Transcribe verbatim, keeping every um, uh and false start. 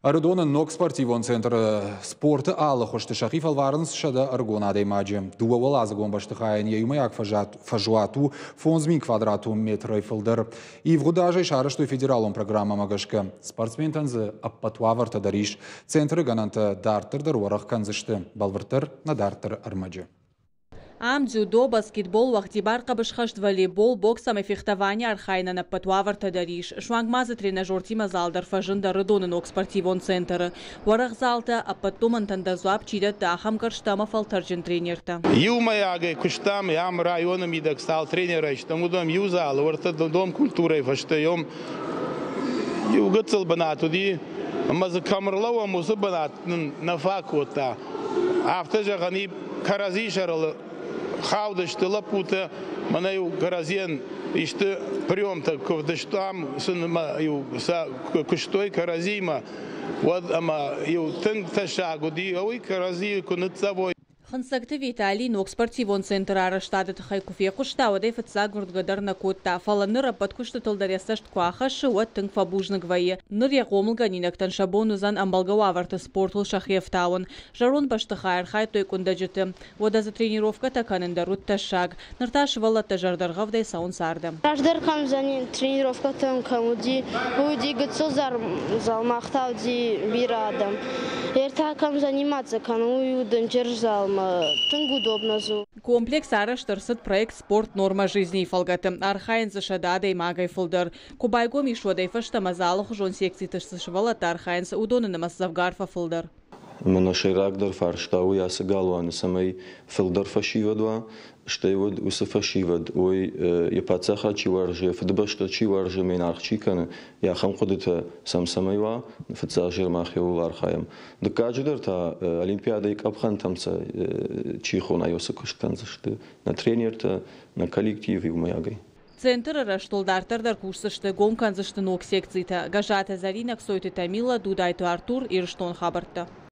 Ӕрыдоны ног спортивон центры спорты алы хуызты сӕхи фӕлварынц сӕдӕ ӕрыгон адӕймаджы. Дыууӕуӕладзыгон бӕстыхайӕн йӕ иумӕйаг фӕзуат у фондз мин квадратон метрӕй фылдӕр. Ивгъуыд азӕй сарӕзтой федералон программӕмӕ гӕсгӕ. Спортсментӕн дзы ӕппӕт уавӕртӕ дӕр ис. Центры гӕнӕнтӕ дарддӕр дӕр уӕрӕх кӕндзысты. Бӕлвырддӕр нӕ дарддӕры ӕрмӕджы. Ам дзюдо, баскетбол, уӕгъдибар хъӕбысхӕст, волейбол, бокс ӕмӕ фехтовани архайынӕн ӕппӕт уавӕртӕ дӕр ис. Суанг ма дзы тренажертимӕ зал дӕр фӕзынд Ӕрыдоны ног спортивон центры. Уӕрӕх залтӕ, ӕппӕт домӕнтӕн дӕр дзуапп чи дӕтты, ахӕм гӕрзтӕ ӕмӕ фӕлтӕрджын тренертӕ. Иумӕйагӕй куыстам, ам районы мидӕг цал тренерӕй стӕм, уыдон иу залы, уӕртӕ дом культурӕйы фӕстӕ иу гыццыл бынат уыди, ӕмӕ дзы кӕм ӕрлӕууӕм, уыцы бынат нын нӕ фаг кодта. Афтӕ зӕгъӕн и, кӕрӕдзи сӕрыл хаудысты лӕппутӕ, мӕнӕ-иу кӕрӕдзийӕн исты приемтӕ куы вдыстам, сын иу сӕ куыстой кӕрӕдзимӕ, уӕд ӕмӕ-иу тынг тӕссаг уыди, уый кӕрӕдзийы куы ныццӕвой. Хынцӕгты Виталий ног спортивон центры арӕзтады тыххӕй куы фехъуыста, уӕд ӕй фыццаг уырнгӕ дӕр нӕ кодта. Фӕлӕ ныр ӕппӕт куыстытыл дӕр йӕ цӕст куы ахӕссы, уӕд тынг фӕбузныг вӕййы. Ныр йӕ хъомылгӕнинӕгтӕн сӕ бон уыдзӕн ӕмбӕлгӕ уавӕрты спортыл сӕхи ӕфтауын. Зӕронд бӕстыхайы архайдтой къуындӕджыты. Уӕдӕ дзы тренировкӕтӕ кӕнын дӕр уыд тӕссаг. Ныр та сывӕллӕттӕ зӕрдӕргъӕвдӕй цӕуынц ардӕм. Раздӕр кӕм тренировкӕтӕм кӕм уыди, уый уыди гыццыл зал, мах та уыди бирӕ адӕм. Ӕртӕ кӕм заниматься кӕнын, уый у дынджыр залмӕ, тынг удобно дзы. Комплекс арӕзт ӕрцыд проект «Спорт. Норма жизни» фӕлгӕты. Архайынц дзы сӕдӕ адӕймагӕй фылдӕр. Куы байгом ис, уӕдӕй фӕстӕмӕ дзы алыхуызон секциты цы сывӕллӕттӕ архайынц, уыдоны нымӕц дзӕвгар фӕфылдӕр. Ӕмӕ нӕ сӕйрагдӕр фарста уый ацы галуаны, цӕмӕй фылдӕр фӕсивӕд уа, стӕй уӕд уыцы фӕсивӕд уой, йӕ паддзахад чи уарзы, йӕ фыдыбӕстӕ чи уарзы, ӕмӕ йын аргъ чи кӕны, йӕ ахӕм хъуыдытӕ сӕм цӕмӕй уа, фыццаджы мах иууыл архайӕм. Дыккаджыдӕр та олимпиадӕйы къӕпхӕнтӕм сӕ чи хона, уыцы куыст кӕндзысты нӕ тренертӕ, нӕ коллектив иумӕйагӕй. Центры рӕзтыл дарддӕр дӕр кусдзысты, гом кӕндзысты ног секцитӕ. Гӕззаты Зӕринӕ, Кцойты Тамила, Дудайты Артур, Ирыстон хабӕрттӕ.